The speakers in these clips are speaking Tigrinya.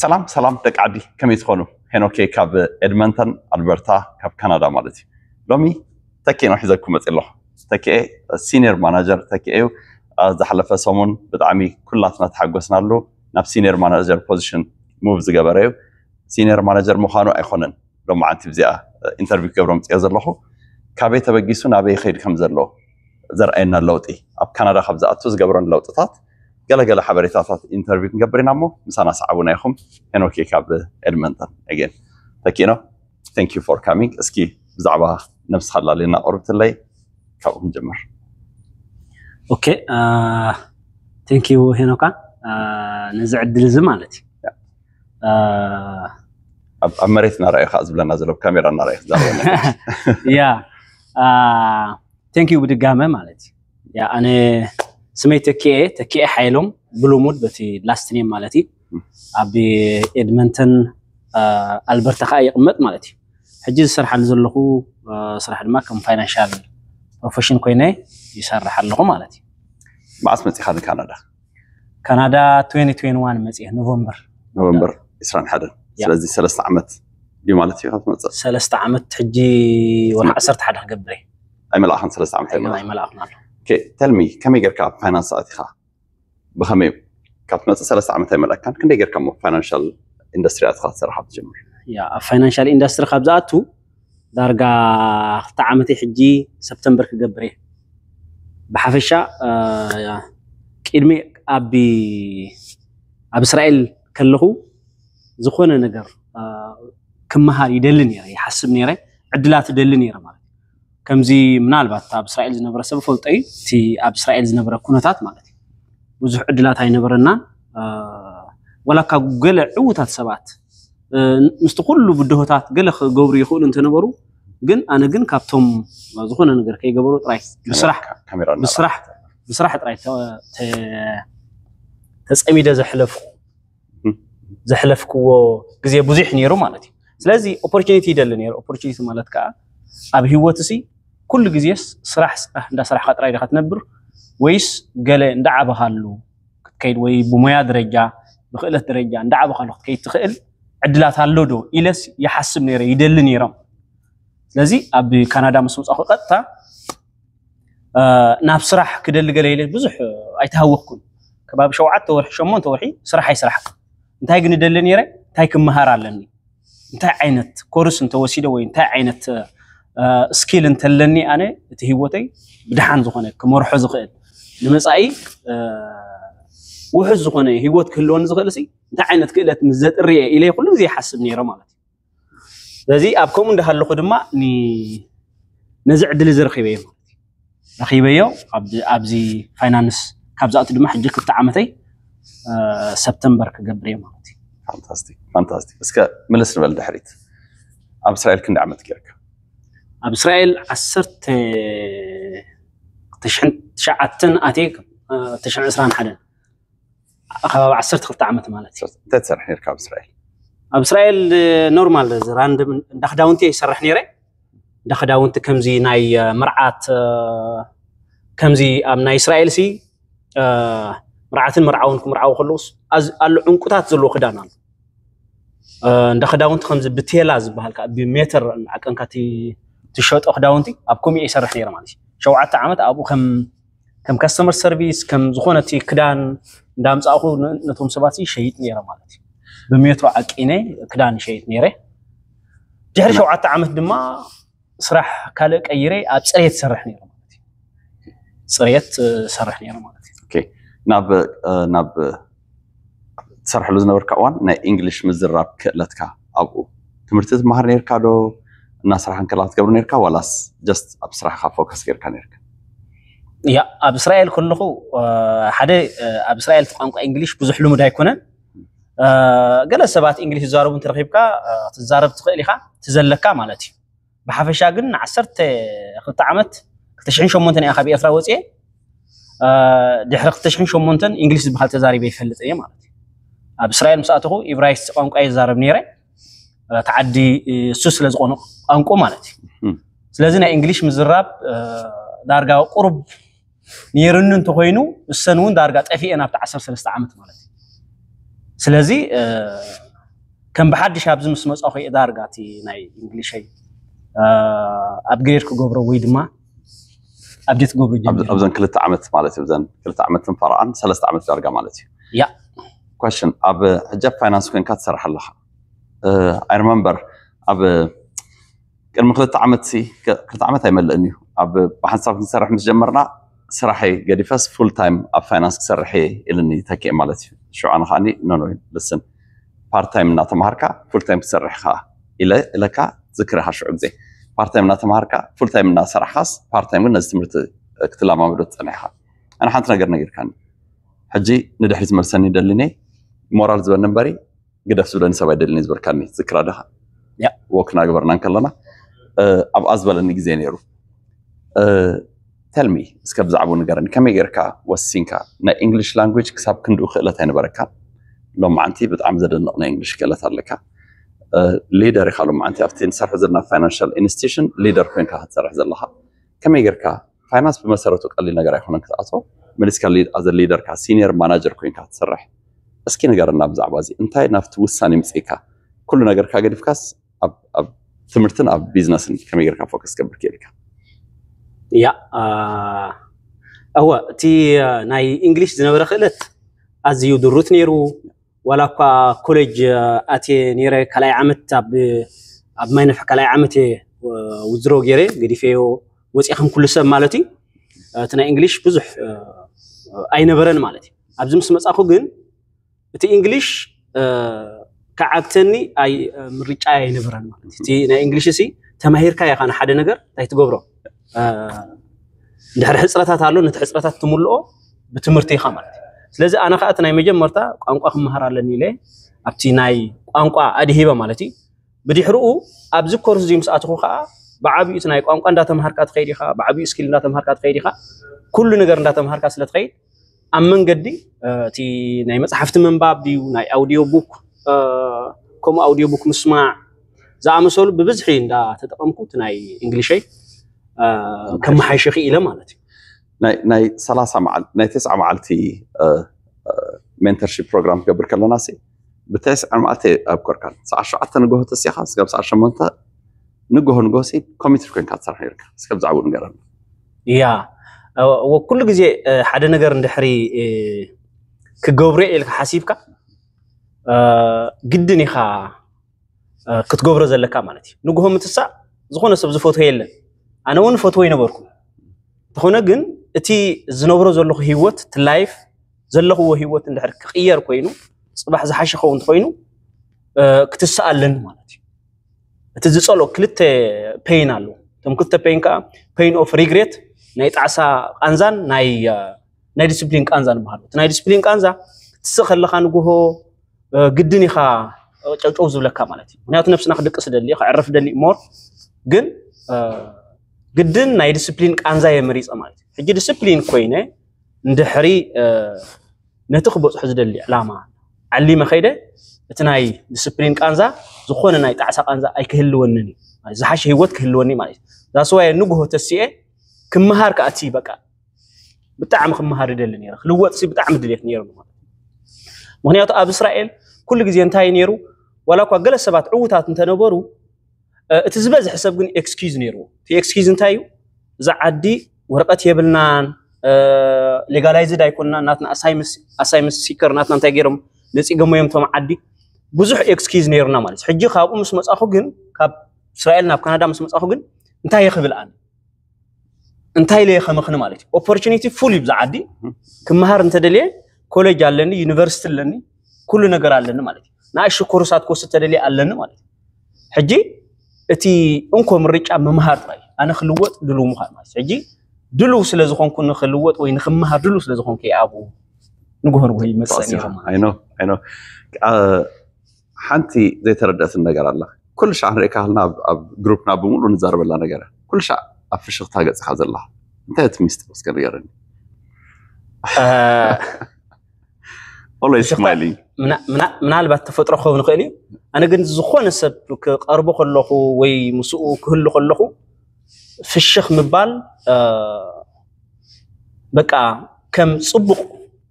ሰላም ሰላም ደቂ ዓዲ፣ ከመይ ትኾኑ? ሄኖክ ካብ ኤድመንተን ኣልበርታ፣ ካብ ካናዳ ማለት እዩ። ሎሚ ተኪኤ ነው ሒዘኩም መፅእ ኣለኹ። ተኪኤ ሲኒየር ማናጀር ተኪኤ እዩ። ዝሓለፈ ሰሙን ብጣዕሚ ኩላትና ተሓጎስናሉ። ናብ ሲኒየር ማናጀር ፖዚሽን ሙቭ ዝገበረ እዩ። ሲኒየር ማናጀር ምዃኑ ኣይኮነን ሎማዓንቲ ብዚኣ ኢንተርቪው ክገብሮ ምፅኦ ዘለኹ። ካበይ ተበጊሱ ናበይ ይኸይድ ከም ዘሎ ዘርኣየና ለውጢ፣ ኣብ ካናዳ ካብ ዝኣቱ ዝገብረን ለውጥታት ገለገለ ሓበሬታታት ኢንተርቪው ክንገብር ኢና። እሞ ምሳና ሰዓቡና ኢኹም። ሄኖክ ካብ ኤድመንተን። ኣገን ተኪኖ፣ thank you for coming። እስኪ ብዛዕባ ነብስኻ ላሌና ቆርብትለይ፣ ካብኡ ክንጀምር። ኦኬ፣ thank you ሄኖካ፣ ነዚ ዕድል እዚ ማለት እዩ። ኣብ መሬት እናረኣዩ ከዓ ዝብለና ዘሎ፣ ካሜራ እናረኣዩ ክዛረበና። ያ thank you ብድጋመ ማለት እዩ። ያ ኣነ ስመይ ተኪኤ፣ ተኪኤ ሓይሎም ብልሙድ በቲ ላስት ኔም ማለት እዩ። ኣብ ኤድመንተን ኣልበርታ ከዓ ይቕመጥ ማለት እዩ። ሕጂ ዝሰርሓሉ ዘለኹ ስራሕ ድማ ከም ፋይናንሻል ፕሮፌሽን ኮይነ ይሰርሕ ኣለኹ ማለት እዩ። መዓስ መፂኻ ንካናዳ? ካናዳ twenty twenty-one መፅየ ኖቨምበር። ኖቨምበር ዕስራን ሓደን። ስለዚ ሰለስተ ዓመት ድዩ ማለት እዩ ካብ ትመፅእ? ሰለስተ ዓመት ሕጂ ወርሒ ዓሰርተ ሓደ ክገብር እየ። ኣይመላእኻን ሰለስተ ዓመት ኣይመላእኹን ኣሎ። ተልሚ፣ ከመይ ጌርካ ኣብ ፋይናንስ ኣቲኻ? ብኸመይ ካብ ትመፅእ ሰለስተ ዓመት ኣይመላእካን፣ ክንደይ ጌርካ ሞ ፋይናንሻል ኢንዱስትሪ ኣቲኻ ትሰርሕ ትጀምር? ያ ኣብ ፋይናንሻል ኢንዱስትሪ ካብ ዝኣቱ ዳርጋ ክልተ ዓመተይ ሕጂ ሰፕተምበር ክገብር እየ። ብሓፈሻ ቅድሚ ኣብ ኣብ እስራኤል ከለኹ ዝኾነ ነገር ክመሃር ይደሊ ነይረ፣ ይሓስብ ነይረ፣ ዕድላት ይደሊ ነይረ ማለት እዩ። ከምዚ ምናልባት ኣብ እስራኤል ዝነበረ ሰብ ፈልጦ እዩ፣ እቲ ኣብ እስራኤል ዝነበረ ኩነታት ማለት እዩ። ብዙሕ ዕድላት ኣይነበረናን። ዋላ እኳ ገለ ዕዉታት ሰባት ምስቲ ኩሉ ብድሆታት ገለ ክገብሩ ይኽእሉ እንተነበሩ፣ ግን ኣነ ግን ካብቶም ዝኾነ ነገር ከይገበሩ ጥራይ ብስራሕ ብስራሕ ጥራይ ተፀሚደ ዘሕለፍኩ ዘሕለፍክዎ ግዜ ብዙሕ ነይሩ ማለት እዩ። ስለዚ ኦፖርቹኒቲ ይደሊ ነይሩ። ኦፖርቹኒቲ ማለት ከዓ ኣብ ህይወት ሲ ኩሉ ግዜስ ስራሕ ስራሕ እንዳሰራሕካ ጥራይ ዲኻ ትነብር ወይስ ገለ እንዳዓበኻሉ ክትከይድ ወይ ብሞያ ደረጃ ብክእለት ደረጃ እንዳዓበኻሉ ክትከይድ ትኽእል ዕድላት ኣሎ ዶ ኢለስ ይሓስብ ነይረ፣ ይደሊ ነይሮም። ስለዚ ኣብ ካናዳ ምስ መጻኹ ቀጥታ ናብ ስራሕ ክደሊ ገለ ኢለ ብዙሕ ኣይተሃወኽኩን። ከባቢ ሸውዓተ ወርሒ ሸሞንተ ወርሒ ስራሕ ኣይሰራሕኩን። እንታይ ግን እደሊ ነይረ? እንታይ ክመሃር ኣለኒ? እንታይ ዓይነት ኮርስ እንተወሲደ ወይ እንታይ ዓይነት ስኪል እንተለኒ ኣነ እቲ ህይወተይ ብድሓን ዝኾነ ክመርሖ ዝኽእል ንመጻኢ ውሑስ ዝኾነ ህይወት ክህልወኒ ዝኽእል ሲ እንታይ ዓይነት ክእለት ምስ ዘጥርየ ኢለ ኩሉ ግዜ ይሓስብ ነይረ ማለት እዩ። ስለዚ ኣብ ከምኡ እንዳሃለኹ ድማ ነዚ ዕድል እዚ ረኺበዮ ማለት እዩ። ረኺበዮ ኣብዚ ፋይናንስ ካብ ዝኣቱ ድማ ሕጂ ክልተ ዓመተይ ሰፕተምበር ክገብር እየ ማለት እዩ። ፋንታስቲክ ፋንታስቲክ። እስከ ምልስ ንበል ድሕሪት፣ ኣብ እስራኤል ክንዲ ዓመት ጌርካ? ኣብ እስራኤል ዓሰርተ ትሽዓተ ኣትየ ትሽዓተ ዕስራን ሓደን ከባቢ ዓሰርተ ክልተ ዓመት ማለት እዩ። እንታይ ትሰርሕ ነርካ ኣብ እስራኤል? ኣብ እስራኤል ኖርማል ራንድም እንዳ ክዳውንቲ ይሰርሕ ነይረ። እንዳ ክዳውንቲ ከምዚ ናይ መርዓት ከምዚ ኣብ ናይ እስራኤል ሲ መርዓትን መርዓውን ክምርዓው ከለውስ ኣሎ ዕንቁታት ዘለዎ ክዳን ኣሎ። እንዳ ክዳውንቲ ከምዚ ብቴላ ዝበሃል ከዓ ብሜተር ዓቀንካ ትሸጦ ክዳውንቲ ኣብ ኮሚኤ ይሰርሕ ነይረ ማለት እዩ። ሸውዓተ ዓመት ኣብኡ ከም ከም ካስተመር ሰርቪስ ከም ዝኾነ እቲ ክዳን እንዳምፃእኹ ነቶም ሰባት ይሸይጥ ነይረ ማለት እዩ። ብሜትሮ ዓቂነ ክዳን ይሸይጥ ነይረ። ድሕሪ ሸውዓተ ዓመት ድማ ስራሕ ካልእ ቀይረ ኣብ ፅሬት ሰርሕ ነይረ ማለት እዩ። ፅሬት ሰርሕ ነይረ ማለት እዩ። ናብ ናብ ትሰርሐሉ ዝነበርካ እዋን ናይ እንግሊሽ ምዝራብ ክእለትካ ኣብኡ ትምህርቲ ትመሃር ነርካ ዶ? እናስራሕ እንከላ ትገብር ነርካ ዋላስ ጀስት ኣብ ስራሕካ ፎከስ ጌርካ ነርካ? ያ ኣብ እስራኤል ከለኹ ሓደ ኣብ እስራኤል ቋንቋ እንግሊሽ ብዙሕ ልሙድ ኣይኮነን። ገለ ሰባት እንግሊሽ ዝዛረቡ እንተረኺብካ ትዛረብ ትኽእል ኢኻ ትዘለካ ማለት እዩ። ብሓፈሻ ግን ንዓሰርተ ክልተ ዓመት ክልተ ሽሕን ሸሞንተን እያ ካብ ኤርትራ ወፅየ። ድሕሪ ክልተ ሽሕን ሸሞንተን እንግሊሽ ዝበሃል ተዛሪበ ይፈልጥ እየ ማለት እዩ። ኣብ እስራኤል ምስ ኣተኹ ኢብራይስጥ ቋንቋ ይዛረብ ነይረ። እቲ ዓዲ እሱ ስለ ዝኾነ ቋንቋ ማለት እዩ። ስለዚ ናይ እንግሊሽ ምዝራብ ዳርጋ ቁሩብ ነይሩኒ እንተኮይኑ እሰን እውን ዳርጋ ጠፊኤን ኣብቲ ዓሰርተ ሰለስተ ዓመት ማለት እዩ። ስለዚ ከም ብሓድሽ ኣብዚ ምስ መጻኹ እየ ዳርጋ እቲ ናይ እንግሊሸይ ኣብ ግሬድ ክገብሮ ወይ ድማ ኣብዴት ክገብሮ ጀሚሩ። ኣብዘን ክልተ ዓመት ማለት እዩ። ኣብዘን ክልተ ዓመትን ፈረቓን ሰለስተ ዓመት ዳርጋ ማለት እዩ። ያ ኳሽን ኣብ ሕጂ ኣብ ፋይናንስ ኮይንካ ትሰርሕ ኣለኻ። ኣይ ሪመምበር ኣብ ቅድሚ ክልተ ዓመት ሲ ክልተ ዓመት ኣይመልእን እዩ ኣብ ብሓንሳብ ክንሰርሕ ምስ ጀመርና ስራሐይ ገዲፈስ ፉል ታይም ኣብ ፋይናንስ ክሰርሕ እየ ኢልኒ ተኪኤ ማለት እዩ። ሽዑ ኣነ ከዓኒ ኖ ኖ ልስን ፓርት ታይም እናተምሃርካ ፉል ታይም ክትሰርሕ ኢኻ ኢለ ኢለካ ዝክረኻ ሽዑ ግዜ ፓርት ታይም እናተምሃርካ ፉል ታይም እናሰራሕካስ ፓርት ታይም ግን ነዚ ትምህርቲ ክትለማመዶ ትጸንሕ ኢኻ። ኣነ ሓንቲ ነገር ነጊርካኒ ሕጂ ንድሕሪት መልሰኒ ደሊኒ ሞራል ዝበኒ እምበሪ ግደፍ ዝብለኒ ሰብ ኣይደልን እዩ ዝበልካኒ ዝክራ ደኻ ያ። ወክ እናገበርና እንከለና ኣብኣ ዝበለኒ ግዜ ነይሩ። ተልሚ እስከ ብዛዕባኡ ንገረኒ ከመይ ጌርካ ወሲንካ ናይ ኢንግሊሽ ላንጉጅ ክሳብ ክንድኡ ክእለት ኣይነበረካ ሎማዓንቲ ብጣዕሚ ዘደንቕ ናይ ኢንግሊሽ ክእለት ኣለካ ሊደር ኢኻ ሎማዓንቲ ኣብቲ ንሰርሑ ዘለና ፋይናንሻል ኢንስቲቱሽን ሊደር ኮይንካ ክትሰርሕ ዘለኻ ከመይ ጌርካ ፋይናንስ ብመሰረቱ ቀሊል ነገር ኣይኮነን ክትኣቶ መሊስካ ኣዘ ሊደርካ ሲኒየር ማናጀር ኮይንካ ክትሰርሕ እስኪ ንገረና ብዛዕባ እዚ እንታይ ናብቲ ውሳኔ ምፅእካ ኩሉ ነገርካ ገዲፍካስ ኣብ ትምህርትን ኣብ ቢዝነስን ከመይ ጌርካ ፎከስ ገብር ክኢልካ ያ እወ እቲ ናይ እንግሊሽ ዝነበረ ክእለት ኣዝዩ ድሩት ነይሩ ዋላ እኳ ኮሌጅ ኣትየ ነይረ ካልኣይ ዓመት ኣብ ኣብ ማይነፍ ካልኣይ ዓመት እየ ውዝድሮ ገይረ ገዲፈዮ ወፂእኹም ኩሉ ሰብ ማለት እዩ እቲ ናይ እንግሊሽ ብዙሕ ኣይነበረን ማለት እዩ ኣብዚ ምስ መፃኹ ግን እቲ እንግሊሽ ክዓግተኒ ኣይ ምርጫ ኣይነበረን ማለት እዩ እቲ ናይ እንግሊሽ ሲ ተማሂርካ ኢኻ ንሓደ ነገር እንታይ ትገብሮ እንድሕር ሕፅረታት ኣሎ ነቲ ሕፅረታት ትምልኦ ብትምህርቲ ኢኻ ማለት እዩ ስለዚ ኣነ ከዓ እቲ ናይ መጀመርታ ቋንቋ ክመሃር ኣለኒ ኢለ ኣብቲ ናይ ቋንቋ ኣድሂበ ማለት እዩ ብድሕርኡ ኣብዚ ኮርስ እዚ ምስ ኣትኹ ከዓ ብዓብዩ እቲ ናይ ቋንቋ እንዳተምሃርካ ትኸይድ ኢኻ ብዓብዩ ስኪል እንዳተምሃርካ ትኸይድ ኢኻ ኩሉ ነገር እንዳተምሃርካ ስለ ትኸይድ ኣብ መንገዲ እቲ ናይ መፅሓፍቲ ምንባብ ድዩ ናይ ኣውዲዮ ቡክ ከምኡ ኣውዲዮ ቡክ ምስማዕ ዝኣመሰሉ ብብዝሒ እንዳተጠቐምኩ እቲ ናይ እንግሊሸይ ከመሓይሽ ክኢለ ማለት እዩ ናይ ሰላሳ መዓልቲ ናይ ተስዓ መዓልቲ ሜንተርሺፕ ፕሮግራም ክገብር ከለና ሲ ብተስዓ መዓልቲ ኣብ ኮርካን ሰዓ ሸውዓተ ንግሆ ተሲኻ ስጋብ ሰዓ ሸሞንተ ንግሆ ንግሆ ሲ ኮሚትድ ኮይንካ ትሰርሕ ነርካ እስከ ብዛዕባኡ ንገረና ያ ኩሉ ግዜ ሓደ ነገር እንድሕሪ ክገብሮ ኢልካ ሓሲብካ ግድን ኢኻ ክትገብሮ ዘለካ ማለት እዩ ንግሆ ምትሳእ ዝኾነ ሰብ ዝፈትዎ የለን ኣነ እውን ፈትዎ ይነበርኩ እንተኾነ ግን እቲ ዝነብሮ ዘለኹ ህይወት እቲ ላይፍ ዘለኽዎ ህይወት እንድሕር ክቕየር ኮይኑ ፅባሕ ዝሓሸ ኸውን እንተኮይኑ ክትስእ ኣለኒ ማለት እዩ እቲ ዝፀልኦ ክልተ ፔይን ኣለዎ እቶም ክልተ ፔይን ከዓ ፔይን ኦፍ ሪግሬት ናይ ጣዕሳ ቃንዛን ናይ ናይ ዲስፕሊን ቃንዛ ንበሃሉ እቲ ናይ ዲስፕሊን ቃንዛ ክትስእ ከለካ ንግሆ ግድን ኢኻ ጨውጨው ዝብለካ ማለት እዩ ምክንያቱ ነብስና ክድቅስ ደሊ ክዕርፍ ደሊ ሞር ግን ግድን ናይ ዲስፕሊን ቃንዛ የመሪፀ ማለት እዩ ሕጂ ዲስፕሊን ኮይነ እንድሕሪ ነቲ ክበፅሑ ዝደሊ ዕላማ ዓሊመ ከይደ እቲ ናይ ዲስፕሊን ቃንዛ ዝኾነ ናይ ጣዕሳ ቃንዛ ኣይክህልወንን እዩ ዝሓሸ ህይወት ክህልወኒ ማለት እዩ ዛስዋየ ንግሆ ተሲኤ ክመሃር ከኣቲ በቃ ብጣዕሚ ክመሃር ይደሊ ነይረ ክልወጥሲ ብጣዕሚ ድሌት ነይሩ ምክንያቱ ኣብ እስራኤል ኩሉ ግዜ እንታይ ነይሩ ዋላ እኳ ገለ ሰባት ዕዉታት እንተነበሩ እቲ ዝበዝሕ ሰብ ግን ኤክስኪዝ ነይርዎ እቲ ኤክስኪዝ እንታይ እዩ እዛ ዓዲ ወረቀት የብልናን ሌጋላይዝድ ኣይኮንና ናትና ኣሳይመንት ሲከር ናትና እንታይ ገይሮም ነፂገሞ እዮም ቶም ዓዲ ብዙሕ ኤክስኪዝ ነይሩና ማለት ሕጂ ካብኡ ምስ መፃኹ ግን ካብ እስራኤል ናብ ካናዳ ምስ መፃኹ ግን እንታይ ይኽብል ኣነ እንታይ ኢለ ከመኽኒ ማለት እዩ ኦፖርቹኒቲ ፉል እዩ ብዛ ዓዲ ክመሃር እንተደልየ ኮሌጅ ኣለኒ ዩኒቨርሲቲ ኣለኒ ኩሉ ነገር ኣለኒ ማለት እዩ ንኣሽ ኮርሳት ክወስድ ተደልየ ኣለኒ ማለት እዩ ሕጂ እቲ እንኮ ምርጫ ምምሃር ጥራይ ኣነ ክልወጥ ድልው ምዃን ማለት ሕጂ ድልው ስለ ዝኾንኩ ንክልወጥ ወይ ንክምሃር ድልው ስለ ዝኾንኩ ኣብኡ ንግሆ ንግሆ ይመፅእ ነይሩ ማለት I know I know ሓንቲ ዘይተረደእትን ነገር ኣላ ኩሉ ሻዕ ንሪእካ ከልና ኣብ ግሩፕና ብምሉእ ንዛረበላ ነገር ኩሉ ሻዕ ኣብ ፍሽኽታ ገፅካ ዘላ እንታይ እቲ ሚስጥር እስከ ንገረኒ always smiling ምናልባት ተፈጥሮ ክኸውን ይኽእል እዩ ኣነ ግን ዝኾነ ሰብ ክቐርቦ ከለኹ ወይ ምስኡ ክህሉ ከለኹ ፍሽኽ ምባል በቃ ከም ፅቡቕ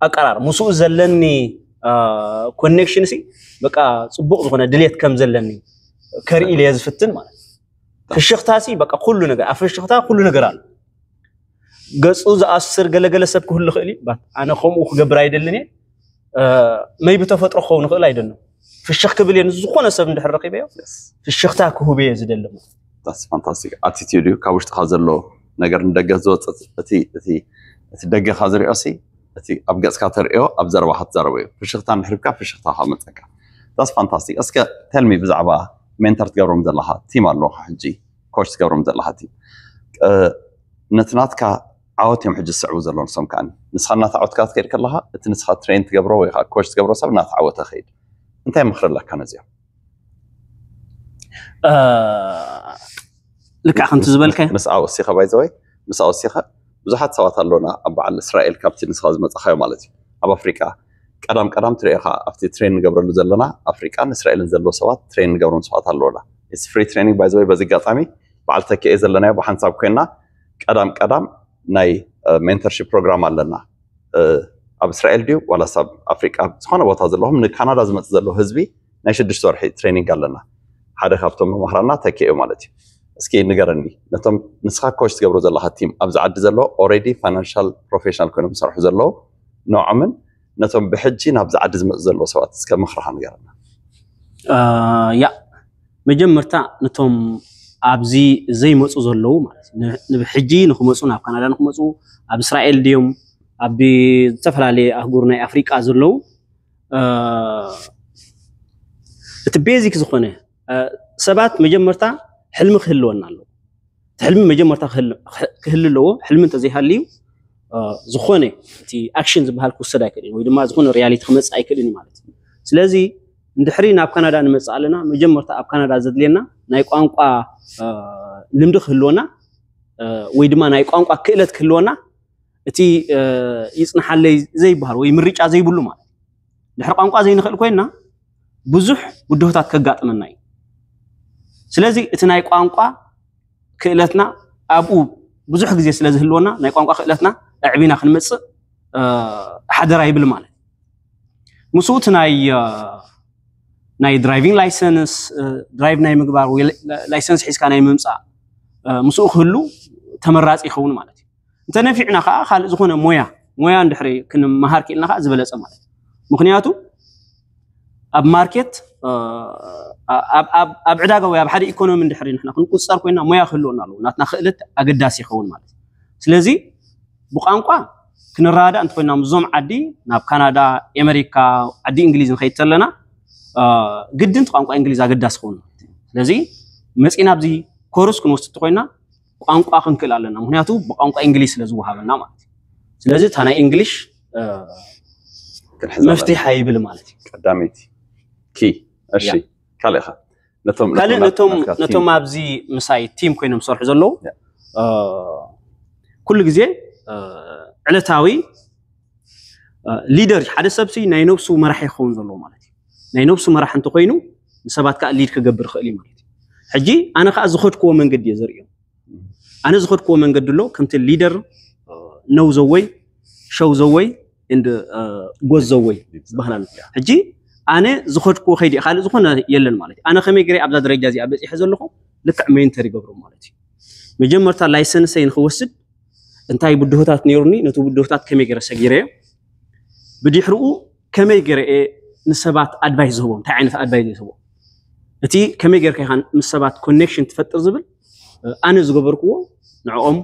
ኣቀራር ምስኡ ዘለኒ ኮኔክሽን ሲ በቃ ጽቡቕ ዝኾነ ድሌት ከም ዘለኒ ከርኢ ኢለ ዝፍትን ማለት እዩ። ፍሽኽታ ሲ በቃ ኩሉ ነገር ኣብ ፍሽኽታ ኩሉ ነገር ኣሎ። ገጹ ዝኣስር ገለገለ ሰብ ክህሉ ይኽእል እዩ። ባት ኣነ ከምኡ ክገብር ኣይደልን እየ። መይ ብተፈጥሮ ክኸውን ይኽእል ኣይደልን። ፍሽኽ ክብል እየ ንዝኾነ ሰብ እንድሕር ረኺበዮ ፍሽኽታ ክህብ እየ ዝደሊ። ስ ፋንታስቲክ ኣቲቲዩድ እዩ። ካብ ውሽጥካ ዘሎ ነገር ንደገ ዝወፅእ እቲ እቲ እቲ ደገካ ዝሪኦ ሲ እቲ ኣብ ገፅካ ተሪኦ ኣብ ዘረባካ ትዛረቦ እዩ። ፍሽኽታ እንድሕር ሂብካ ፍሽኽታ ካብ መፀካ ስ ፋንታስቲክ። እስከ ተልሚ ብዛዕባ ሜንተር ትገብሮም ዘለካ ቲም ኣለካ ሕጂ ኮች ትገብሮም ዘለካ ቲም ነቲ ናትካ ዓወት እዮም ሕጂ ዝስዕቡ ዘለዉ ንሶም ከዓኒ ንስኻ እናተዓወትካ ክትከይድ ከለካ እቲ ንስኻ ትሬን ትገብሮ ወይ ከዓ ኮች ትገብሮ ሰብ እናተዓወተ ከይድ እንታይ ምኽሪ ኣለካ ነዚኦም ልክዕ ከምቲ ዝበልካዮ ምስኣ ወሲኸ ባይዘወይ ምስኣ ወሲኸ ብዙሓት ሰባት ኣለውና ኣብ በዓል እስራኤል ካብቲ ንስኻ ዝመፃኻዮ ማለት እዩ ኣብ ኣፍሪቃ ቀዳም ቀዳም ትሪኦ ከዓ ኣብቲ ትሬን ንገብረሉ ዘለና ኣፍሪቃን እስራኤልን ዘለዎ ሰባት ትሬን ንገብሮም ሰባት ኣለውና It's free training ባይዘወይ በዚ ኣጋጣሚ በዓል ተኪኤ ዘለናዮ ብሓንሳብ ኮይና ቀዳም ቀዳም ናይ ሜንተርሺፕ ፕሮግራም ኣለና ኣብ እስራኤል ድዩ ዋላስ ኣብ ኣፍሪቃ ዝኾነ ቦታ ዘለኹም ንካናዳ ዝመፅእ ዘሎ ህዝቢ ናይ ሽዱሽተ ወርሒ ትሬኒንግ ኣለና ሓደ ካብቶም መምህራና ተኪኡ ማለት እዩ እስኪ ንገረኒ ነቶም ንስኻ ኮች ትገብሮ ዘለካ ቲም ኣብዚ ዓዲ ዘሎ already financial professional ኮይኖም ዝሰርሑ ዘለዉ ንዖምን ነቶም ብሕጂ ናብዚ ዓዲ ዝመፁ ዘለዉ ሰባት እስከ ምኽርኻ ንገረና ያ መጀመርታ ነቶም ኣብዚ ዘይመፁ ዘለዉ ማለት ንብሕጂ ንክመፁ ናብ ካናዳ ንክመፁ ኣብ እስራኤል ድዮም ኣብ ዝተፈላለየ ኣህጉር ናይ ኣፍሪቃ ዘለዉ እቲ ቤዚክ ዝኾነ ሰባት መጀመርታ ሕልሚ ክህልወና ኣለዎ እቲ ሕልሚ መጀመርታ ክህል ኣለዎ ሕልሚ እንተዘይሃልዩ ዝኾነ እቲ ኣክሽን ዝበሃል ክውሰድ ኣይክእልን ወይ ድማ ዝኾነ ሪያሊቲ ክመፅእ ኣይክእልን ማለት እዩ ስለዚ እንድሕሪ ናብ ካናዳ ንመፅእ ኣለና መጀመርታ ኣብ ካናዳ ዘድልየና ናይ ቋንቋ ልምዲ ክህልወና ወይ ድማ ናይ ቋንቋ ክእለት ክህልወና እቲ ይፅንሓለይ ዘይበሃል ወይ ምርጫ ዘይብሉ ማለት ድሕሪ ቋንቋ ዘይንኽእል ኮይና ብዙሕ ብድሆታት ከጋጥመና እዩ ስለዚ እቲ ናይ ቋንቋ ክእለትና ኣብኡ ብዙሕ ግዜ ስለ ዝህልወና ናይ ቋንቋ ክእለትና ኣዕቢና ክንመፅእ ሓደራ ይብል ማለት ምስኡ እቲ ናይ ናይ ድራይቪንግ ላይሰንስ ድራይቭ ናይ ምግባር ላይሰንስ ሒዝካ ናይ ምምፃእ ምስኡ ክህሉ ተመራፂ ይኸውን ማለት እዩ እንተነፊዕና ከዓ ካልእ ዝኾነ ሞያ ሞያ እንድሕሪ ክንመሃር ክኢልና ከዓ ዝበለፀ ማለት እዩ ምክንያቱ ኣብ ማርኬት ኣብ ዕዳጋ ወይ ኣብ ሓደ ኢኮኖሚ እንድሕሪ ንሕና ክንቁፀር ኮይና ሞያ ክህልወና ኣለዎ ናትና ክእለት ኣገዳሲ ይኸውን ማለት እዩ ስለዚ ብቋንቋ ክንረዳዳእ እንተኮይና ምስዞም ዓዲ ናብ ካናዳ ኣሜሪካ ዓዲ እንግሊዝ ንኸይድ ተለና ግድን ቋንቋ እንግሊዝ ኣገዳሲ ክኸውን ስለዚ መፂና ኣብዚ ኮርስ ክንወስድ እንተኮይና ቋንቋ ክንክእል ኣለና ምክንያቱ ብቋንቋ እንግሊዝ ስለ ዝወሃበና ማለት እዩ ስለዚ እታ ናይ እንግሊሽ መፍትሒ ይብል ማለት እዩ ቀዳመይቲ ኪ እሺ ካልእኻ ካልእ ነቶም ኣብዚ ምሳይ ቲም ኮይኖም ዝሰርሑ ዘለዉ ኩሉ ግዜ ዕለታዊ ሊደር ሓደ ሰብሲ ናይ ነብሱ መራሒ ክኸውን ዘለዎ ማለት እዩ ናይ ነብሱ መራሕ እንተኮይኑ ንሰባት ከዓ ሊድ ክገብር ይኽእል እዩ ማለት እዩ ሕጂ ኣነ ከዓ ዝኸድክዎ መንገዲ እየ ዘርእዮም ኣነ ዝኸድክዎ መንገዲ ኣሎ ከምቲ ሊደር ነው ዘወይ ሸው ዘወይ and ጎዝ ዘወይ ዝበሃል ኣሎ ሕጂ ኣነ ዝኸድክዎ ከይዲ ካልእ ዝኾነ የለን ማለት እዩ ኣነ ከመይ ገረ ኣብዛ ደረጃ እዚኣ በፂሐ ዘለኹ ልክዕ ሜንተር ይገብሮም ማለት እዩ መጀመርታ ላይሰንሰይ ንክወስድ እንታይ ብድሆታት ነይሩኒ ነቲ ብድሆታት ከመይ ገረ ሰጊረዮ ብድሕርኡ ከመይ ገረ ንሰባት ኣድቫይስ ዝህቦም እንታይ ዓይነት ኣድቫይስ ዝህቦም እቲ ከመይ ጌርካ ኢኻ ምስ ሰባት ኮኔክሽን ትፈጥር ዝብል ኣነ ዝገበርክዎ ንዕኦም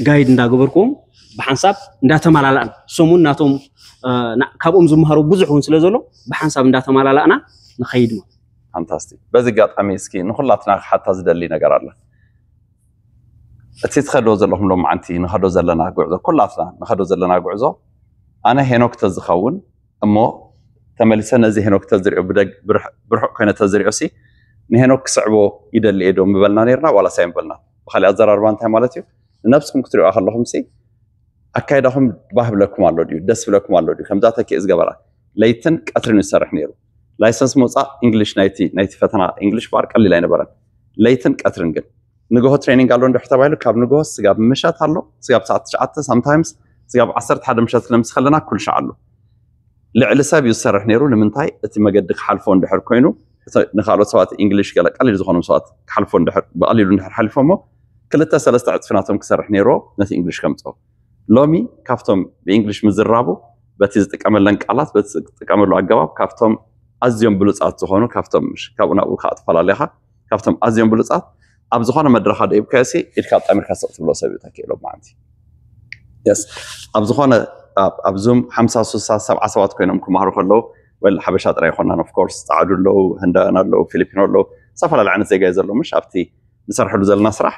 ጋይድ እንዳገበርክዎም ብሓንሳብ እንዳተመላላእና እሶም እውን ናቶም ካብኦም ዝመሃሩ ብዙሕ እውን ስለ ዘሎ ብሓንሳብ እንዳተመላላእና ንኸይድ ማለት ፋንታስቲክ በዚ ኣጋጣሚ እስኪ ንኩላትና ክሓታ ዝደሊ ነገር ኣለ እቲ ትኸዶ ዘለኹም ሎማዓንቲ ንኸዶ ዘለና ጉዕዞ ኩላትና ንኸዶ ዘለና ጉዕዞ ኣነ ሄኖክ ተዝኸውን እሞ ተመሊሰ ነዚ ሄኖክ ተዝሪኦ ብርሑቕ ኮይነ ተዝሪኦ ሲ ንሄኖክ ክስዕቦ ይደሊ እየ ዶ ምበልና ነርና ዋላ ሳይ ምበልና ብካሊእ ኣዘራርባ እንታይ ማለት እዩ ንነብስኩም ክትሪኦ ከለኹም ሲ ኣካይዳኹም ባህ ብለኩም ኣሎ ድዩ ደስ ብለኩም ኣሎ ድዩ ከምዛ ተኪእ ዝገበራ ለይትን ቀትርን ይሰርሕ ነይሩ ላይሰንስ ምውፃእ እንግሊሽ ናይቲ ናይቲ ፈተና እንግሊሽ ባር ቀሊል ኣይነበረን ለይትን ቀትርን ግን ንግሆ ትሬኒንግ ኣሎ እንድሕር ተባሂሉ ካብ ንግሆ ስጋብ ምሸት ኣሎ ስጋብ ሰዓት ትሽዓተ ሳምታይምስ ስጋብ ዓሰርተ ሓደ ምሸት ክነምስ ከለና ኩሉ ሻዕ ኣሎ ልዕሊ ሰብ እዩ ዝሰርሕ ነይሩ። ንምንታይ? እቲ መገዲ ክሓልፎ እንድሕር ኮይኑ፣ እቲ ንካልኦት ሰባት እንግሊሽ ገለ ቀሊል ዝኾኖም ሰባት ክሓልፎ እንድሕር፣ ብቐሊሉ እንድሕር ሓሊፎሞ፣ ክልተ ሰለስተ ዕፅፊ ናቶም ክሰርሕ ነይርዎ ነቲ እንግሊሽ ከምፅኦ። ሎሚ ካብቶም ብእንግሊሽ ምዝራቡ፣ በቲ ዝጥቀመለን ቃላት፣ በቲ ዝጥቀመሉ ኣገባብ፣ ካብቶም ኣዝዮም ብሉፃት ዝኾኑ፣ ካብቶም፣ ምሽ፣ ካብኡ ናብኡ ከዓ ትፈላለኻ፣ ካብቶም ኣዝዮም ብሉፃት፣ ኣብ ዝኾነ መድረኻ ደይብካዮ ሲ ኢድካ ኣጣሚርካ ስቕ ትብሎ ሰብ እዩ ተኪእሎ ማዓንቲ። የስ፣ ኣብ ዝኾነ፣ ኣብ ዙም ሓምሳ፣ ስሳ፣ ሰብዓ ሰባት ኮይኖም ክመሃሩ ከለዉ፣ ወል ሓበሻ ጥራይ ይኮናን፣ ኦፍኮርስ ፃዕዱ ኣለዉ፣ ህንዳውያን ኣለዉ፣ ፊሊፒኖ ኣለዉ፣ ዝተፈላለዩ ዓይነት ዜጋ እዩ ዘሎ። ምሽ ኣብቲ ንሰርሐሉ ዘለና ስራሕ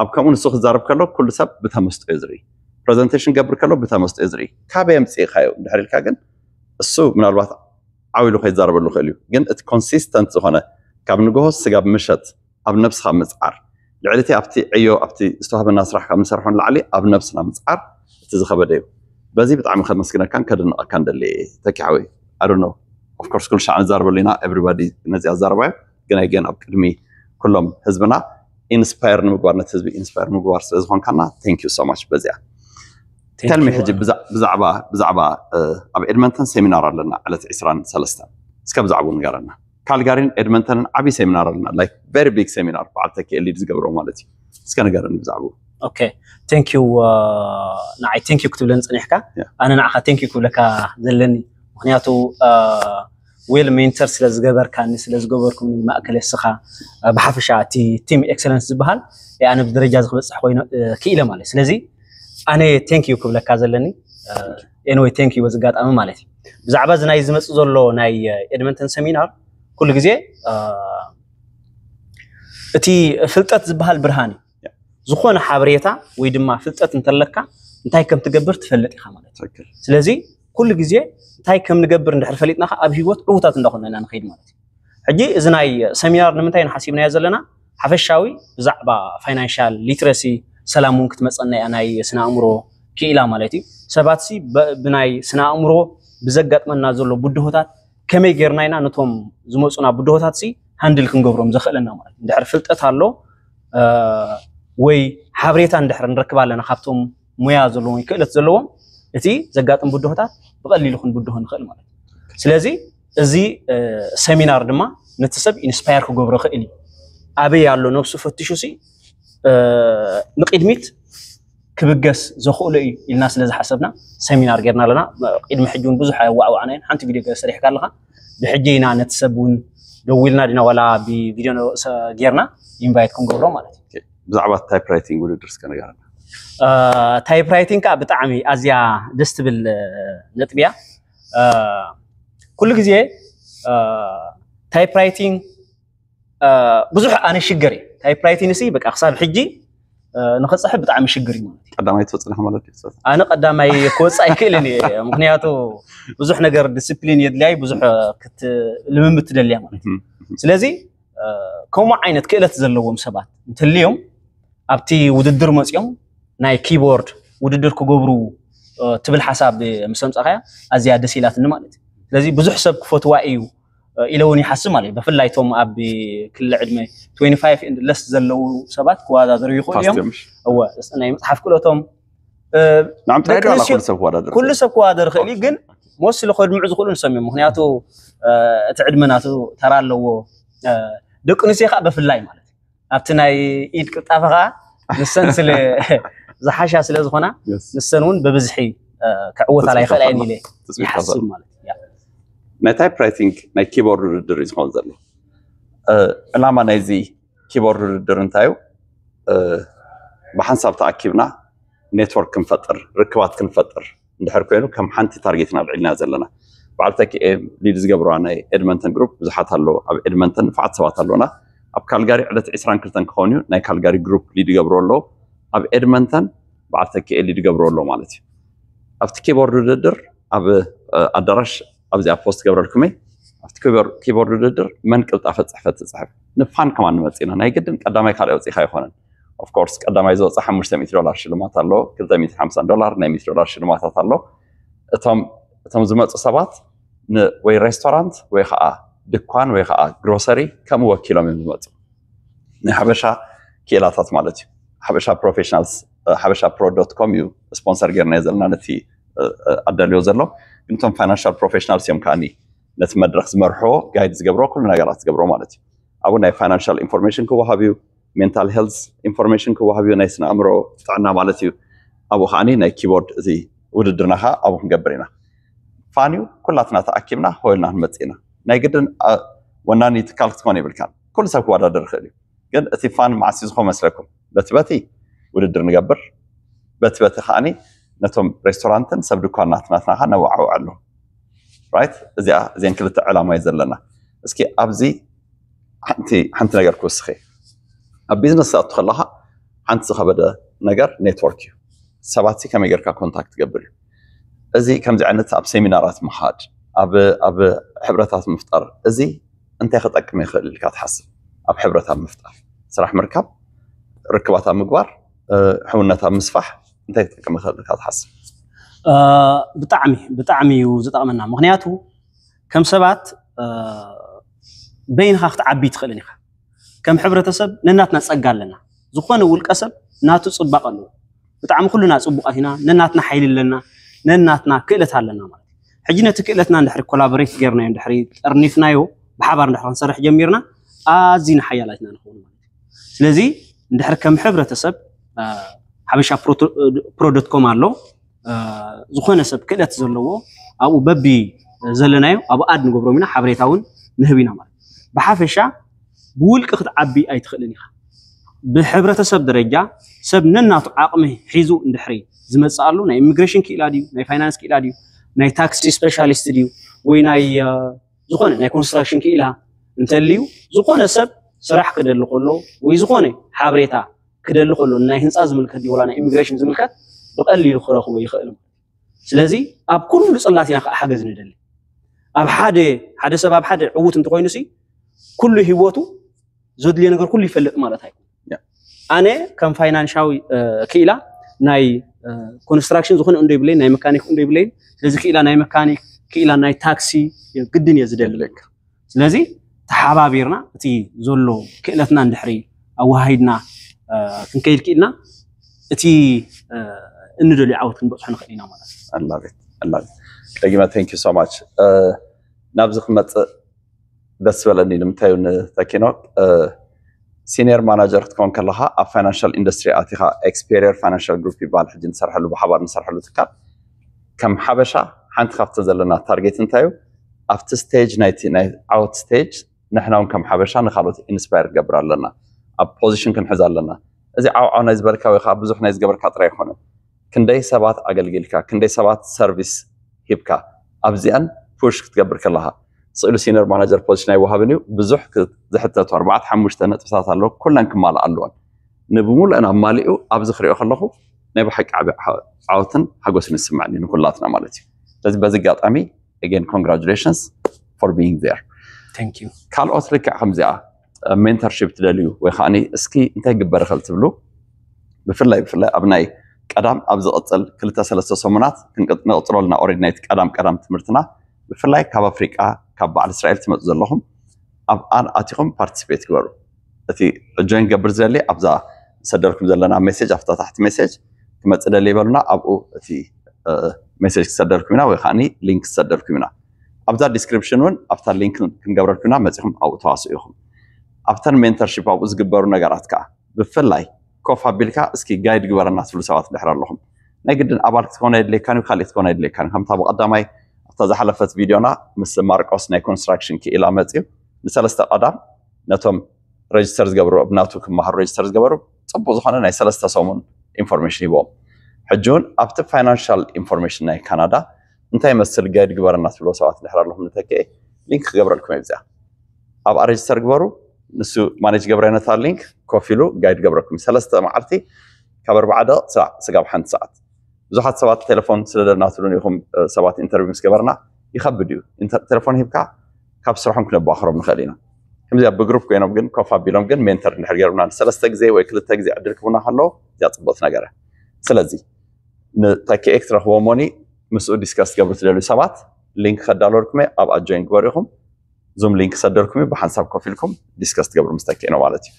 ኣብ ከምኡ ንሱ ክዛረብ ከሎ ኩሉ ሰብ ብተመስጦ እዩ ዝርኢ። ፕረዘንቴሽን ገብር ከሎ ብተመስጦ እዩ ዝርኢ። ካበይ ኣምፅእካዮ እንድሕር ኢልካ ግን እሱ ምናልባት ዓው ኢሉ ከይዛረበሉ ይኽእል እዩ። ግን እቲ ኮንሲስተንት ዝኾነ ካብ ንግሆ ስጋብ ምሸት ኣብ ነብስኻ ምፅዓር፣ ልዕሊ እቲ ኣብቲ ዕዮ ኣብቲ ዝተዋህበና ስራሕ ካብ ንሰርሖ ንላዕሊ ኣብ ነብስና ምፅዓር እቲ ዝኸበደ እዩ። በዚ ብጣዕሚ ከመስግነካን ከድንቐካን ደሊ ተኪሓዊ። I don't know, of course ኩሉ ሻዕ ንዛረበሉ ኢና፣ everybody ነዚ ኣዛረባዮ። ግን ኣይ ገን ኣብ ቅድሚ ኩሎም ህዝብና ኢንስፓየር ንምግባር፣ ነቲ ህዝቢ ኢንስፓየር ንምግባር ስለ ዝኾንካና thank you so much። በዚኣ ተልሚ ሕጂ ብዛዕባ ብዛዕባ ኣብ ኤድመንተን ሴሚናር ኣለና ዕለት ዕስራን ሰለስተን። እስከ ብዛዕባኡ ንገረና። ካልጋሪን ኤድመንተንን ዓብዪ ሴሚናር ኣለና፣ like very big ሴሚናር፣ በዓል ተኪኤ ሊድ ዝገብሮ ማለት እዩ። እስከ ንገረኒ ብዛዕባኡ። Okay, thank you። ንዓይ thank you ክትብለኒ ፀኒሕካ፣ ኣነ ንዓኻ thank you ክብለካ ዘለኒ። ምክንያቱ well mentor ስለ ዝገበርካኒ፣ ስለ ዝገበርኩምኒ፣ ማእከል እስኻ፣ ብሓፈሻ እቲ ቲም ኤክሰለንስ ዝበሃል ኣነ ብደረጃ እዚ ክበፅሕ ኮይኑ ክኢለ ማለት። ስለዚ ኣነ thank you ክብለካ ዘለኒ። Anyway, thank you በዚ ኣጋጣሚ ማለት እዩ። ብዛዕባ እዚ ናይ ዝመፅእ ዘሎ ናይ ኤድመንተን ሴሚናር ኩሉ ግዜ እቲ ፍልጠት ዝበሃል ብርሃን እዩ። ዝኾነ ሓበሬታ ወይ ድማ ፍልጠት እንተለካ እንታይ ከም ትገብር ትፈልጥ ኢኻ ማለት እዩ። ስለዚ ኩሉ ግዜ እንታይ ከም ንገብር እንድሕር ፈሊጥና ኣብ ሂወት ዕውታት እንዳኾና ኢና ንኸይድ ማለት እዩ። ሕጂ እዚ ናይ ሴሚናር ንምንታይ ንሓሲብናዮ ዘለና? ሓፈሻዊ ብዛዕባ ፋይናንሻል ሊትረሲ፣ ሰላም እውን ክትመፀና እያ፣ ናይ ስነ ኣእምሮ ክኢላ ማለት እዩ። ሰባት ሲ ብናይ ስነ ኣእምሮ ብዘጋጥመና ዘሎ ብድሆታት ከመይ ጌርና ኢና ነቶም ዝመፁና ብድሆታት ሲ ሃንድል ክንገብሮም ዘኽእለና ማለት እዩ። እንድሕር ፍልጠት ኣሎ ወይ ሓበሬታ እንድሕር ንረክብ ኣለና ካብቶም ሞያ ዘለዎም ወይ ክእለት ዘለዎም፣ እቲ ዘጋጥም ብድሆታት ብቐሊሉ ክንብድሆ ንኽእል ማለት እዩ። ስለዚ እዚ ሴሚናር ድማ ነቲ ሰብ ኢንስፓየር ክገብሮ ይኽእል እዩ። ኣበይ ኣሎ ነብሱ ፈትሹ ሲ ንቅድሚት ክብገስ ዘኽእሎ እዩ ኢልና ስለ ዝሓሰብና ሴሚናር ጌርና ኣለና። ቅድሚ ሕጂ እውን ብዙሕ ኣየዋዕዋዕናዮን። ሓንቲ ቪድዮ ገለ ሰሪሕካ ኣለኻ። ብሕጂ ኢና ነቲ ሰብ እውን ደዊልና ዲና ዋላ ብቪድዮ ጌርና ኢንቫይት ክንገብሮ ማለት እዩ። ብዛዕባ ታይፕ ራይቲንግ ውድድር እስከ ንገረና። ታይፕ ራይቲንግ ከዓ ብጣዕሚ ኣዝያ ደስ ትብል ነጥቢ እያ። ኩሉ ግዜ ታይፕ ራይቲንግ ብዙሕ ኣነ ሽገር እየ። ታይፕ ራይቲንግ ሲ በቃ ክሳብ ሕጂ ንኽፅሕፍ ብጣዕሚ ሽግር እዩ ማለት እዩ። ቀዳማይ ትወፅእ ኢኻ ማለት እዩ። ኣነ ቀዳማይ ክወፅእ ኣይክእልን እየ፣ ምክንያቱ ብዙሕ ነገር ዲስፕሊን የድልያ እዩ፣ ብዙሕ ልምምድ ትደልያ ማለት እዩ። ስለዚ ከምኡ ዓይነት ክእለት ዘለዎም ሰባት እንትልዮም ኣብቲ ውድድር መፅኦም ናይ ኪቦርድ ውድድር ክገብሩ ትብል ሓሳብ ምስ ኣምፃእካያ ኣዝያ ደስ ኢላትኒ ማለት እዩ። ስለዚ ብዙሕ ሰብ ክፈትዋ እዩ ኢለ እውን ይሓስብ ማለት እዩ። ብፍላይ እቶም ኣብ ክሊ ዕድመ twenty-five and less ዘለዉ ሰባት ክወዳደሩ ይኽእሉ እዮም። እወ፣ ናይ ምፅሓፍ ክእለቶም ንዓም ጥራይ ዶ ዋላ ኩሉ ሰብ ክወዳደር? ኩሉ ሰብ ክወዳደር ይኽእል እዩ፣ ግን ሞስሊ ከድምዑ ዝኽእሉ ንሶም እዮም። ምክንያቱ እቲ ዕድመ ናቱ ተራ ኣለዎ። ደቂ ኣንስትዮ ከዓ ብፍላይ ማለት እዩ ኣብቲ ናይ ኢድ ቅልጣፈ ከዓ ንሰን ስለ ዝሓሻ ስለ ዝኾና ንሰን እውን ብብዝሒ ክዕወታ ኣይኽእላ እየን ኢለ ይሓስብ ማለት እዩ። ናይ ታይፕ ራይቲንግ ናይ ኪቦርድ ውድድር እዩ ዝኸውን ዘሎ። ዕላማ ናይዚ ኪቦርድ ውድድር እንታይ እዩ? ብሓንሳብ ተኣኪብና ኔትወርክ ክንፈጥር፣ ርክባት ክንፈጥር እንድሕር ኮይኑ ከም ሓንቲ ታርጌት ኢና ኣልዒልና ዘለና። በዓል ተኪኤ ሊድ ዝገብርዋ ናይ ኤድመንተን ግሩፕ ብዙሓት ኣለዉ። ኣብ ኤድመንተን ንፉዓት ሰባት ኣለዉና። ኣብ ካልጋሪ ዕለት ዕስራን ክልተን ክኸውን እዩ። ናይ ካልጋሪ ግሩፕ ሊድ ይገብሩ ኣለዉ። ኣብ ኤድመንተን በዓል ተኪኤ ሊድ ይገብሩ ኣለዉ ማለት እዩ። ኣብቲ ኪቦርድ ውድድር ኣብ ኣዳራሽ ኣብዚኣ ፖስት ገብረልኩመይ ኣብቲ ኪቦርድ ውድድር መን ቅልጣፈ ፅሕፈት ትፅሕፍ ንፋን ከማን ንመፅእ ኢና። ናይ ግድን ቀዳማይ ካልኣይ ወፂእካ ኣይኮነን። ኦፍኮርስ ቀዳማይ ዝወፅእ ሓሙሽተ ሚእቲ ዶላር ሽልማት ኣሎ፣ ክልተ ሚእቲ ሓምሳ ዶላር ናይ ሚእቲ ዶላር ሽልማታት ኣሎ። እቶም እቶም ዝመፁ ሰባት ወይ ሬስቶራንት ወይ ከዓ ድኳን ወይ ከዓ ግሮሰሪ ከምኡ ወኪሎም እዮም ዝመፁ። ናይ ሓበሻ ክኢላታት ማለት እዩ። ሓበሻ ፕሮፌሽናልስ ሓበሻ ፕሮ ዶት ኮም እዩ ስፖንሰር ጌርና ዘለና ነቲ ኣዳልዮ ዘሎ። ግን እቶም ፋይናንሻል ፕሮፌሽናልስ እዮም ከዓኒ ነቲ መድረክ ዝመርሕዎ፣ ጋይድ ዝገብሮ፣ ኩሉ ነገራት ዝገብሮ ማለት እዩ። ኣብኡ ናይ ፋይናንሻል ኢንፎርሜሽን ክወሃብ እዩ፣ ሜንታል ሄልዝ ኢንፎርሜሽን ክወሃብ እዩ፣ ናይ ስነ ኣእምሮ ጥዕና ማለት እዩ። ኣብኡ ከዓኒ ናይ ኪቦርድ እዚ ውድድርና ከዓ ኣብኡ ክንገብር ኢና። ፋን እዩ፣ ኩላትና ተኣኪብና ሆይልና ክንመፅእ ኢና። ናይ ግድን ወናኒ ትካል ክትኮን የብልካን። ኩሉ ሰብ ክወዳደር ይኽእል እዩ። ግን እቲ ፋን መዓስ እዩ ዝኾን መስለኩም? በቲ በቲ ውድድር ንገብር፣ በቲ በቲ ከዓኒ ነቶም ሬስቶራንትን ሰብ ድኳናት ናትና ከዓ ነወዓውዐሉ። ራይት? እዚኣ እዚን ክልተ ዕላማ እዩ ዘለና። እስኪ ኣብዚ ሓንቲ ሓንቲ ነገር ክውስኺ። ኣብ ቢዝነስ ክትኣቱ ከለኻ ሓንቲ ዝኸበደ ነገር ኔትወርክ እዩ። ሰባት ከመይ ጌርካ ኮንታክት ትገብር እዩ። እዚ ከምዚ ዓይነት ኣብ ሴሚናራት ምኻድ፣ ኣብ ኣብ ሕብረታት ምፍጣር፣ እዚ እንታይ ክጠቅም ይኽእል ኢልካ ትሓስብ? ኣብ ሕብረት ኣብ ምፍጣር፣ ስራሕ ምርካብ፣ ርክባት ኣብ ምግባር፣ ሕውነት ኣብ ምስፋሕ እንታይ ክጠቅም ይኽእል ኢልካ ትሓስብ? ብጣዕሚ ብጣዕሚ እዩ ዝጠቕመና። ምክንያቱ ከም ሰባት በይንኻ ክትዓቢ ትኽእልን ኢኻ። ከም ሕብረተሰብ ነናትና ጸጋ ኣለና። ዝኾነ ውልቀ ሰብ ናቱ ጽባቐ ኣለዎ። ብጣዕሚ ኩልና ጽቡቓት ኢና። ነናትና ሓይሊ ኣለና፣ ነናትና ክእለት ኣለና ማለት እዩ። ሕጂ ነቲ ክእለትና እንድሕሪ ኮላቦሬት ጌርናዮ፣ እንድሕሪ ጠርኒፍናዮ፣ ብሓባር እንድሕሪ ክንሰርሕ ጀሚርና ኣዝና ሓያላት ኢና ንኸውን ማለት እዩ። ስለዚ እንድሕሪ ከም ሕብረተሰብ ሓበሻ ፕሮዶት ኮም ኣሎ፣ ዝኾነ ሰብ ክእለት ዘለዎ ኣብኡ በቢ ዘለናዮ ኣብኡ ኣድ ንገብሮም ኢና፣ ሓበሬታ እውን ንህብ ኢና ማለት እዩ። ብሓፈሻ ብውልቂ ክትዓቢ ኣይትኽእልን ኢኻ። ብሕብረተሰብ ደረጃ ሰብ ነናቱ ዓቕሚ ሒዙ እንድሕሪ ዝመፅእ ኣሎ፣ ናይ ኢሚግሬሽን ክኢላ ድዩ፣ ናይ ፋይናንስ ክኢላ ድዩ፣ ናይ ታክሲ ስፔሻሊስት ድዩ፣ ወይ ናይ ዝኾነ ናይ ኮንስትራክሽን ክኢላ እንተልዩ፣ ዝኾነ ሰብ ስራሕ ክደሊ ከሎ ወይ ዝኾነ ሓበሬታ ክደሊ ከሎ፣ ናይ ህንፃ ዝምልከት ድዩ ወላ ናይ ኢሚግሬሽን ዝምልከት ብቐሊሉ ክረኽቦ ይኽእል። ስለዚ ኣብ ኩሉ ፅላት ኢና ከዓ ሓገዝ ንደሊ። ኣብ ሓደ ሓደ ሰብ ኣብ ሓደ ዕዉት እንተኮይኑ ሲ ኩሉ ሂወቱ ዘድልዮ ነገር ኩሉ ይፈልጥ ማለት ኣይኮነ። ኣነ ከም ፋይናንሻዊ ክኢላ ናይ ኮንስትራክሽን ዝኾነ እንዶ ይብለይን፣ ናይ መካኒክ እንዶ ይብለይን። ስለዚ ክኢላ ናይ መካኒክ፣ ክኢላ ናይ ታክሲ ግድን እየ ዝደሊ። ስለዚ ተሓባቢርና እቲ ዘሎ ክእለትና እንድሕሪ ኣወሃሂድና ክንከይድ ክኢልና እቲ እንደልዮ ዓወት ክንበፅሖ ንኽእል ኢና ማለት እዩ። ደጊመ thank you so much። ናብዚ ክመፅእ ደስ ዝበለኒ ንምንታይ ንተኪኖ ሲኒየር ማናጀር ክትከውን ከለካ ኣብ ፋይናንሻል ኢንዱስትሪ ኣቲካ ኤክስፔሪየር ፋይናንሻል ግሩፕ ይበሃል ሕጂ ንሰርሐሉ ብሓባር ንሰርሐሉ ትካል ከም ሓበሻ ሓንቲ ካብቲ ዘለና ታርጌት እንታይ እዩ ኣብቲ ስቴጅ ናይቲ ናይ ዓወት ስቴጅ ንሕና እውን ከም ሓበሻ ንካልኦት ኢንስፓየር ክገብር ኣለና ኣብ ፖዚሽን ክንሕዝ ኣለና እዚ ዓውዓው ናይ ዝበልካ ወይ ከዓ ብዙሕ ናይ ዝገበርካ ጥራይ ኣይኮነን ክንደይ ሰባት ኣገልጊልካ ክንደይ ሰባት ሰርቪስ ሂብካ ኣብዚኣን ፑሽ ክትገብር ከለካ ስእሉ ሲነር ማናጀር ፖዚሽን ኣይወሃብን እዩ ብዙሕ ዝሕተቱ ኣርባዕተ ሓሙሽተ ነጥብታት ኣለዉ ኩለን ክማልእ ኣለዎን ንብሙሉአን ኣማሊኡ ኣብዚ ክሪኦ ከለኹ ናይ ብሓቂ ዓቢ ዓወትን ሓጎስን ይስምዐኒ ንኩላትና ማለት እዩ ስለዚ በዚ ኣጋጣሚ again congratulations for being there ካልኦት ልክዕ ከምዚኣ ሜንተርሺፕ ትደልዩ ወይ ከዓ እስኪ እንታይ ግበር ይኽእል ትብሉ ብፍላይ ብፍላይ ኣብ ናይ ቀዳም ኣብ ዝቕፅል ክልተ ሰለስተ ሰሙናት ንቕፅለልና ኦሬዲ ናይቲ ቀዳም ቀዳም ትምህርትና ብፍላይ ካብ ኣፍሪቃ ካብ በዓል እስራኤል ትመፁ ዘለኹም ኣብኣን ኣቲኹም ፓርቲስፔት ግበሩ እቲ ጆይን ገብር ዝደሊ ኣብዛ ዝሰደልኩም ዘለና ሜሴጅ ኣብታ ታሕቲ ሜሴጅ ክመፅእ ደሊ ይበሉና ኣብኡ እቲ ሜሴጅ ክሰደልኩም ኢና ወይ ከዓ ሊንክ ክሰደልኩም ኢና ኣብዛ ዲስክሪፕሽን እውን ኣብታ ሊንክ ክንገብረልኩም ኢና መፂኹም ኣብኡ ተዋስኡ ኢኹም ኣብተን ሜንተርሺፕ ኣብኡ ዝግበሩ ነገራት ከዓ ብፍላይ ኮፍ ኣቢልካ እስኪ ጋይድ ግበረና ትብሉ ሰባት ድሕር ኣለኹም ናይ ግድን ኣባል ክትኮን ኣይድልየካን እዩ ካልእ ክትኮን ኣይድልየካን ከምታ ብቐዳማይ ኣብታ ዝሓለፈት ቪድዮና ምስ ማርቆስ ናይ ኮንስትራክሽን ክኢላ መፅዩ ንሰለስተ ቀዳም ነቶም ሬጅስተር ዝገብሩ ኣብ ናቱ ክመሃሩ ሬጅስተር ዝገበሩ ፅቡቅ ዝኾነ ናይ ሰለስተ ሰሙን ኢንፎርሜሽን ሂቦም ሕጂ እውን ኣብቲ ፋይናንሻል ኢንፎርሜሽን ናይ ካናዳ እንታይ መስል ጋይድ ግበረና ትብሎ ሰባት ድሕር ኣለኹም ንተክኤ ሊንክ ክገብረልኩም እየ ብዚኣ ኣብኣ ሬጅስተር ግበሩ ንሱ ማኔጅ ገብረ ነታ ሊንክ ኮፍ ኢሉ ጋይድ ገብረኩም ሰለስተ መዓልቲ ካብ ኣርባዓ ደቂቕ ስጋብ ሓንቲ ሰዓት ብዙሓት ሰባት ቴሌፎን ስለ ደናትሉን ኢኹም ሰባት ኢንተርቪው ምስ ገበርና ይኸብድ እዩ ቴሌፎን ሂብካ ካብ ስርሖም ክነባኽሮም ንኽእል ኢና ከምዚኣ ብግሩፕ ኮይኖም ግን ኮፍ ኣቢሎም ግን ሜንተር እንድሕር ገይሩና ሰለስተ ግዜ ወይ ክልተ ግዜ ዕድል ክቡና ከለዉ እዚኣ ፅቡቅ ነገር ስለዚ ንተኪኤ ክትረኽቦ ሞኒ ምስኡ ዲስከስ ትገብሩ ትደልዩ ሰባት ሊንክ ከዳለልኩም ኣብኣ ጆይን ግበሩ ኢኹም ዙም ሊንክ ሰደልኩም እዩ ብሓንሳብ ኮፍ ኢልኩም ዲስከስ ትገብሩ ምስ ተኪኤ ነው ማለት እዩ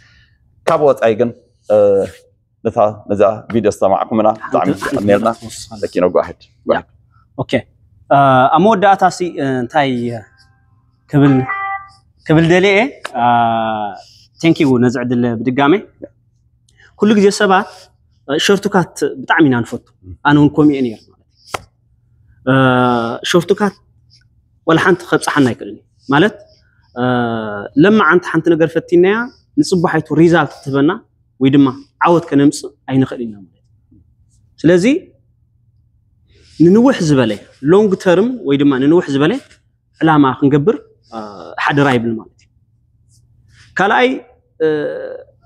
ካብ ወፃኢ ግን ነታ ነዛ ቪድዮ ዝተማዕኩምና ብጣዕሚ ኔርና ተኪኖ ጓሕድ ኦኬ ኣብ መወዳእታ ሲ እንታይ ክብል ክብል ደልየ። Thank you ነዚ ዕድል ብድጋሜ። ኩሉ ግዜ ሰባት ሾርትካት ብጣዕሚ ኢና ንፈቱ። ኣነ እውን ከምኡ እየ ነይረ ማለት እዩ። ሾርትካት ዋላ ሓንቲ ከብፅሓና ኣይክእልን እዩ። ማለት ለማዓንቲ ሓንቲ ነገር ፈቲናያ ንፅባሓይቱ ሪዛልት ትህበና ወይ ድማ ዓወት ከነምፅእ ኣይንኽእል ኢና ማለት እዩ። ስለዚ ንንውሕ ዝበለ ሎንግ ተርም ወይ ድማ ንንውሕ ዝበለ ዕላማ ክንገብር ሓደራ ይብል ማለት እዩ። ካልኣይ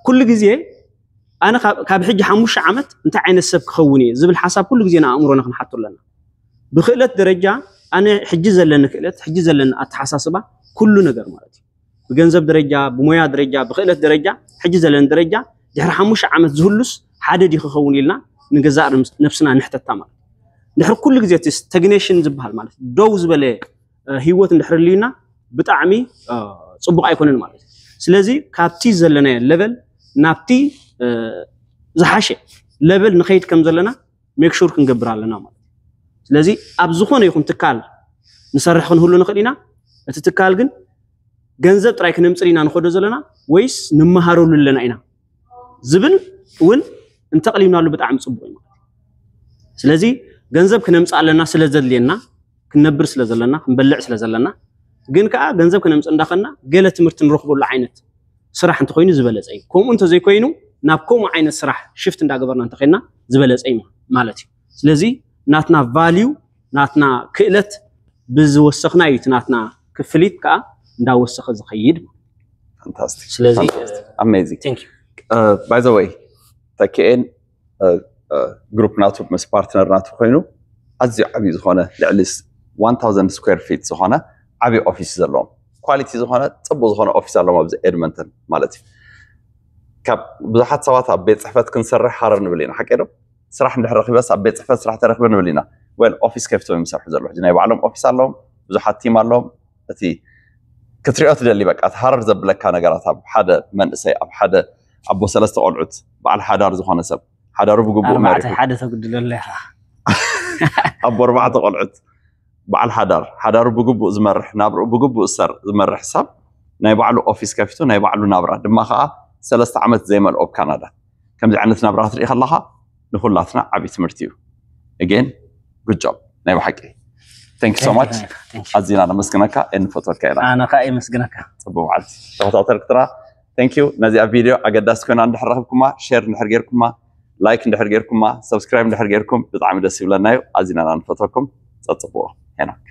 ኩሉ ግዜ ኣነ ካብ ሕጂ ሓሙሽተ ዓመት እንታይ ዓይነት ሰብ ክኸውን እየ ዝብል ሓሳብ ኩሉ ግዜ ንኣእምሮና ክንሓቶ ኣለና። ብክእለት ደረጃ ኣነ ሕጂ ዘለኒ ክእለት፣ ሕጂ ዘለኒ ኣተሓሳስባ፣ ኩሉ ነገር ማለት እዩ። ብገንዘብ ደረጃ፣ ብሞያ ደረጃ፣ ብክእለት ደረጃ፣ ሕጂ ዘለኒ ደረጃ ድሕሪ ሓሙሽተ ዓመት ዝህሉስ ሓደ ድዩ ክኸውን ኢልና ንገዛእ ነብስና ንሕተታ ማለት እዩ። ድሕሪ ኩሉ ግዜ እቲ ስታግኔሽን ዝበሃል ማለት ደው ዝበለ ህይወት እንድሕር ህልዩና ብጣዕሚ ፅቡቕ ኣይኮነን ማለት እዩ። ስለዚ ካብቲ ዘለናዮ ለቨል ናብቲ ዝሓሸ ለቨል ንኸይድ ከም ዘለና ሜክ ሹር ክንገብር ኣለና ማለት እዩ። ስለዚ ኣብ ዝኾነ ይኹን ትካል ንሰርሕ ክንህሉ ንኽእል ኢና። እቲ ትካል ግን ገንዘብ ጥራይ ክነምፅእ ኢና ንኸዶ ዘለና ወይስ ንመሃረሉ ኣለና ኢና ዝብል እውን እንተቕሊብናሉ ብጣዕሚ ፅቡቕ እዩ ማለት እዩ። ስለዚ ገንዘብ ክነምፅእ ኣለና ስለ ዘድልየና፣ ክንነብር ስለ ዘለና፣ ክንበልዕ ስለ ዘለና፣ ግን ከዓ ገንዘብ ክነምፅእ እንዳኸና ገለ ትምህርቲ ንረኽበሉ ዓይነት ስራሕ እንተኮይኑ ዝበለፀ እዩ። ከምኡ እንተዘይኮይኑ ናብ ከምኡ ዓይነት ስራሕ ሽፍት እንዳገበርና እንተኸይና ዝበለፀ እዩ ማለት እዩ። ስለዚ ናትና ቫልዩ ናትና ክእለት ብዝወሰኽና እዩ እቲ ናትና ክፍሊት ከዓ እንዳወሰኸ ዝኸይድ። Fantastic. ስለዚ Amazing. Thank you. By the way ተኪኤን ግሩፕ ናቱ ምስ ፓርትነር ናቱ ኮይኑ ኣዝዩ ዓብዩ ዝኾነ ልዕሊ one thousand square feet ዝኾነ ዓብዩ ኦፊስ ዘለዎም ኳሊቲ ዝኾነ ፅቡቅ ዝኾነ ኦፊስ ኣለዎም ኣብዚ ኤድመንተን ማለት እዩ። ካብ ብዙሓት ሰባት ኣብ ቤት ፅሕፈት ክንሰርሕ ሃረር ንብል ኢና ሓቂ ዶ? ስራሕ እንድሕር ረኪበስ ኣብ ቤት ፅሕፈት ስራሕ ተረክበ ንብል ኢና። ወል ኦፊስ ከፊቶም እዮም ዝሰርሑ ዘለዉ ሕጂ ናይ ባዕሎም ኦፊስ ኣለዎም ብዙሓት ቲም ኣለዎም። እቲ ክትሪኦ ትደሊ በቃ እቲ ሃረር ዘብለካ ነገራት ኣብ ሓደ መንእሰይ ኣብ ሓደ ኣቦ ሰለስተ ቆልዑት በዓል ሓዳር ዝኾነ ሰብ ሓዳሩ ብግቡእ ኣርባዕተ መሪሑ ሓደ ተጉድለሉ ኢኻ። ኣቦ ኣርባዕተ ቆልዑት በዓል ሓዳር ሓዳሩ ብግቡእ ዝመርሕ ናብርኡ ብግቡእ ዝሰር ዝመርሕ ሰብ ናይ ባዕሉ ኦፊስ ከፊቱ ናይ ባዕሉ ናብራ ድማ ከዓ ሰለስተ ዓመት ዘይመልኦ ኣብ ካናዳ ከምዚ ዓይነት ናብራ ክትርኢ ከለካ ንኩላትና ዓብዪ ትምህርቲ እዩ። Again good job ናይ ብሓቂ thank you so much። ኣዚና ነመስግነካ እንፈትወካ ኢና። ኣነ ከዓ የመስግነካ። ፅቡቅ መዓልቲ ተኸታተልክትና thank you። ነዚኣ ቪድዮ ኣገዳሲ ኮይና እንድሕር ረክብኩማ ሼር እንድሕር ጌርኩማ ላይክ እንድሕር ጌርኩማ ሰብስክራይብ እንድሕር ጌርኩም ብጣዕሚ ደስ ይብለና እዩ። ኣዚና ኢና ንፈትወኩም። ፀፅብዎ ሄኖክ